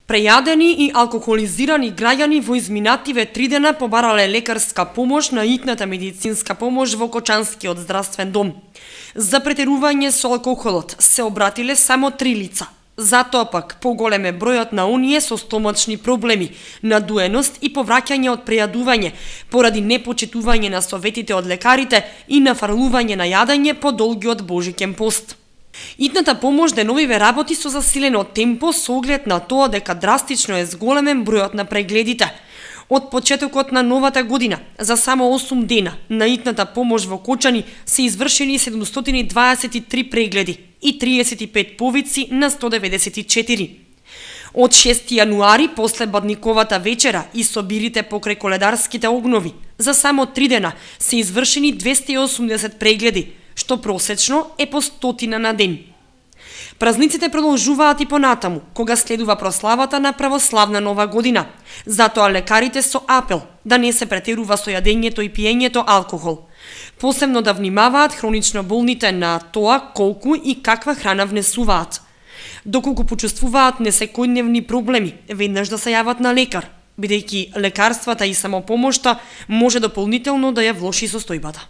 Прејадени и алкохолизирани граѓани во изминативе 3 дена побарале лекарска помош на итната медицинска помош во Кочанскиот здравствен дом. За претерување со алкохолот се обратиле само 3 лица. Затоа пак поголем е бројот на оние со стомачни проблеми, надуеност и повраќање од прејадување, поради непочитување на советите од лекарите и нафрлување на јадење по долгиот божиќен пост. Итната помош деновиве работи со засилено темпо со оглед на тоа дека драстично е зголемен бројот на прегледите. Од почетокот на новата година, за само 8 дена, на итната помош во Кочани се извршени 723 прегледи и 35 повици на 194. Од 6 јануари, после Бадниковата вечера и собирите покрај коледарските огнови, за само 3 дена се извршени 280 прегледи, што просечно е по 100 на ден. Празниците продолжуваат и понатаму, кога следува прославата на православна нова година. Затоа лекарите со апел да не се претерува со јадењето и пиењето алкохол. Посебно да внимаваат хронично болните на тоа колку и каква храна внесуваат. Доколку почувствуваат несекојдневни проблеми, веднаш да се јават на лекар, бидејќи лекарствата и самопомошта може дополнително да ја влоши состојбата.